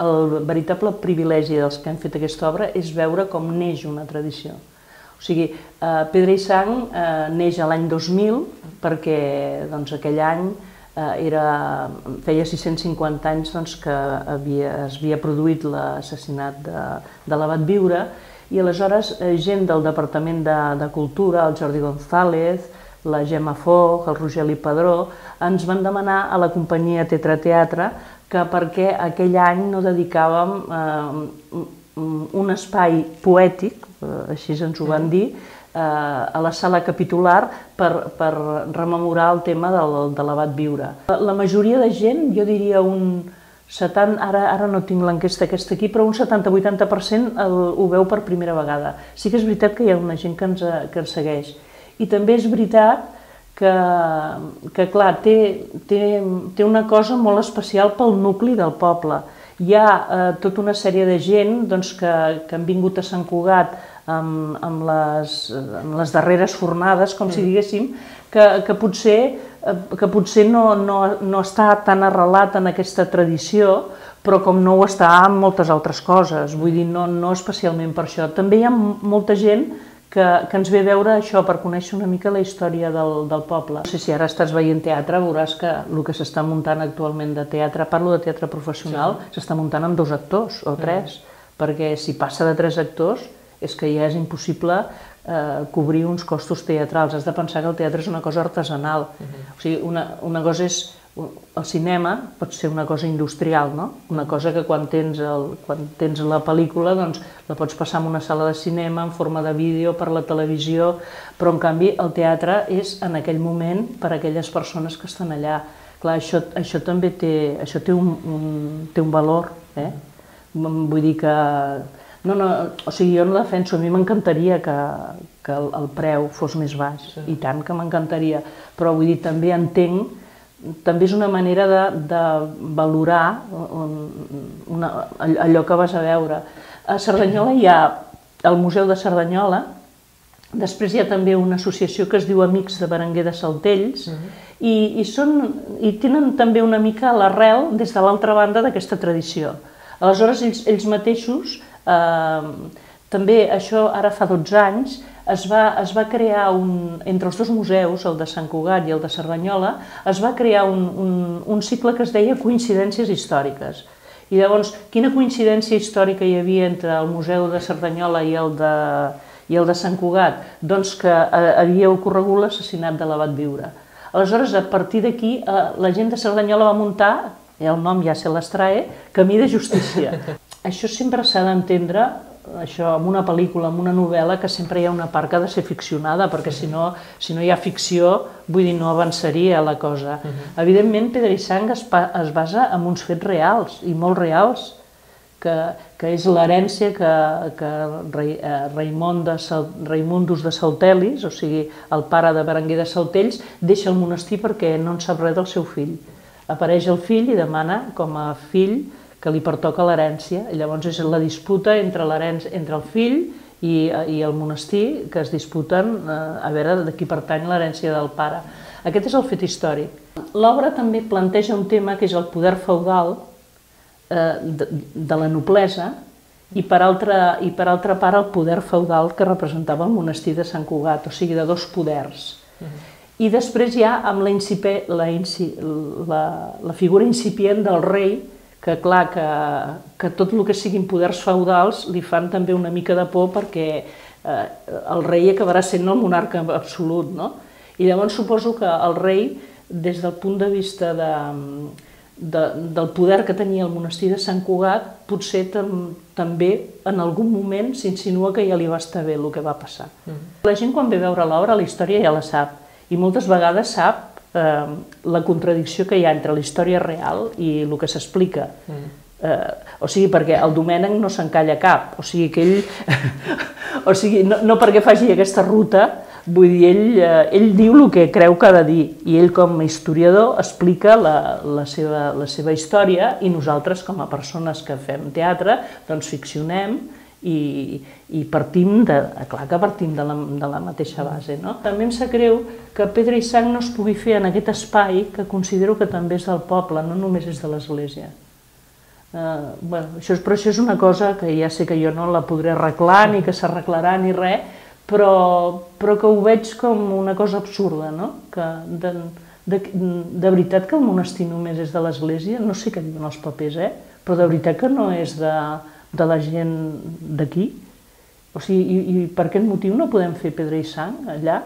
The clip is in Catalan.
El veritable privilegi dels que han fet aquesta obra és veure com neix una tradició. O sigui, Pedra i Sang neix a l'any 2000 perquè aquell any feia 650 anys que es havia produït l'assassinat de l'abat Viure i aleshores gent del Departament de Cultura, el Jordi González, la Gemma Foch, el Rogeli Padró, ens van demanar a la companyia Tetra Teatre que perquè aquell any no dedicàvem un espai poètic, així ens ho van dir, a la sala capitular per rememorar el tema de l'abat Viure. La majoria de gent, jo diria un 70, ara no tinc l'enquesta aquesta aquí, però un 70-80% ho veu per primera vegada. Sí que és veritat que hi ha una gent que ens segueix. I també és veritat que clar, té una cosa molt especial pel nucli del poble. Hi ha tota una sèrie de gent que han vingut a Sant Cugat amb les darreres fornades, com si diguéssim, que potser no està tan arrelat en aquesta tradició, però com no ho està en moltes altres coses, vull dir, no especialment per això. També hi ha molta gent que ens ve a veure això per conèixer una mica la història del poble. No sé si ara estàs veient teatre, veuràs que el que s'està muntant actualment de teatre, parlo de teatre professional, s'està muntant amb 2 actors o 3, perquè si passa de 3 actors és que ja és impossible cobrir uns costos teatrals. Has de pensar que el teatre és una cosa artesanal. O sigui, una cosa és... El cinema pot ser una cosa industrial, no? Una cosa que quan tens la pel·lícula la pots passar en una sala de cinema, en forma de vídeo, per la televisió, però en canvi el teatre és en aquell moment per a aquelles persones que estan allà. Clar, això també té un valor, vull dir que... O sigui, jo no defenso, a mi m'encantaria que el preu fos més baix, i tant que m'encantaria, però vull dir, també entenc, també és una manera de valorar allò que vas a veure. A Cerdanyola hi ha el Museu de Cerdanyola, després hi ha també una associació que es diu Amics de Berenguer de Saltells, i tenen també una mica l'arrel des de l'altra banda d'aquesta tradició. Aleshores, ells mateixos, també això ara fa 12 anys, es va crear, entre els 2 museus, el de Sant Cugat i el de Cerdanyola, es va crear un cicle que es deia Coincidències històriques. I llavors, quina coincidència històrica hi havia entre el Museu de Cerdanyola i el de Sant Cugat? Doncs que havia ocorregut l'assassinat de l'abat Viure. Aleshores, a partir d'aquí, la gent de Cerdanyola va muntar, el nom ja se l'extrae, Camí de Justícia. Això sempre s'ha d'entendre, això, en una pel·lícula, en una novel·la, que sempre hi ha una part que ha de ser ficcionada, perquè si no hi ha ficció, vull dir, no avançaria la cosa. Evidentment, Pedra i Sang es basa en uns fets reals, i molt reals, que és l'herència que Raimundus de Saltelis, o sigui, el pare de Berenguer de Saltells, deixa el monestir perquè no en sap res del seu fill. Apareix el fill i demana, com a fill, que li pertoca l'herència, i llavors és la disputa entre el fill i el monestir, que es disputen a veure de qui pertany l'herència del pare. Aquest és el fet històric. L'obra també planteja un tema que és el poder feudal de la noblesa i per altra part el poder feudal que representava el monestir de Sant Cugat, o sigui, de 2 poders. I després hi ha amb la figura incipient del rei, que clar, que tot el que siguin poders feudals li fan també una mica de por perquè el rei acabarà sent el monarca absolut, no? I llavors suposo que el rei, des del punt de vista del poder que tenia el monestir de Sant Cugat, potser també en algun moment s'insinua que ja li va estar bé el que va passar. La gent quan ve a veure l'obra la història ja la sap, i moltes vegades sap la contradicció que hi ha entre la història real i el que s'explica. O sigui, perquè el Domènec no s'encalla cap, o sigui que ell, o sigui, no perquè faci aquesta ruta, vull dir, ell diu el que creu que ha de dir, i ell com a historiador explica la seva història, i nosaltres com a persones que fem teatre, doncs ficcionem, i partim de la mateixa base. També em sap greu que Pedra i Sang no es pugui fer en aquest espai que considero que també és del poble, no només és de l'Església. Però això és una cosa que ja sé que jo no la podré arreglar, ni que s'arreglarà, ni res, però que ho veig com una cosa absurda, no? Que de veritat que el monestir només és de l'Església, no sé què diuen els papers, però de veritat que no és de la gent d'aquí. O sigui, i per aquest motiu no podem fer pedra i sang allà?